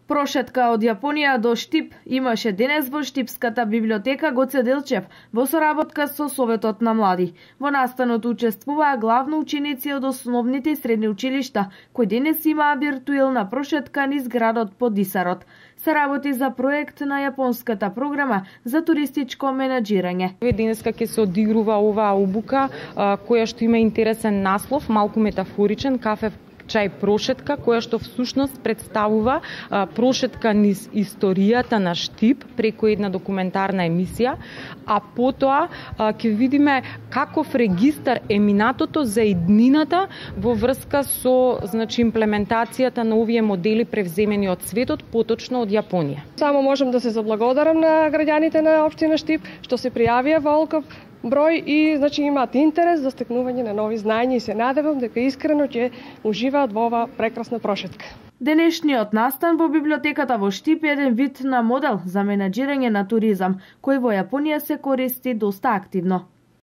Прошетка од Јапонија до Штип имаше денес во Штипската библиотека Гоце Делчев во соработка со Советот на млади. Во настанот учествуваа главно ученици од основните и средни училишта, кои денес имаа виртуелна прошетка низ градот под Дисарот. Се работи за проект на јапонската програма за туристичко менаџирање. Денеска ќе се одигрува оваа обука која што има интересен наслов, малку метафоричен, кафе чај прошетка, која што всушност представува прошетка низ историјата на Штип преку една документарна емисија, а потоа ќе видиме каков регистар е минатото за иднината во врска со имплементацијата на овие модели превземени од светот, поточно од Јапонија. Само можам да се заблагодарам на граѓаните на општина Штип што се пријавија во олков број и имаат интерес за стекнување на нови знаења и се надевам дека искрено ќе уживаат во ова прекрасна прошетка. Денешниот настан во библиотеката во Штип е еден вид на модел за менаџирање на туризам, кој во Јапонија се користи доста активно.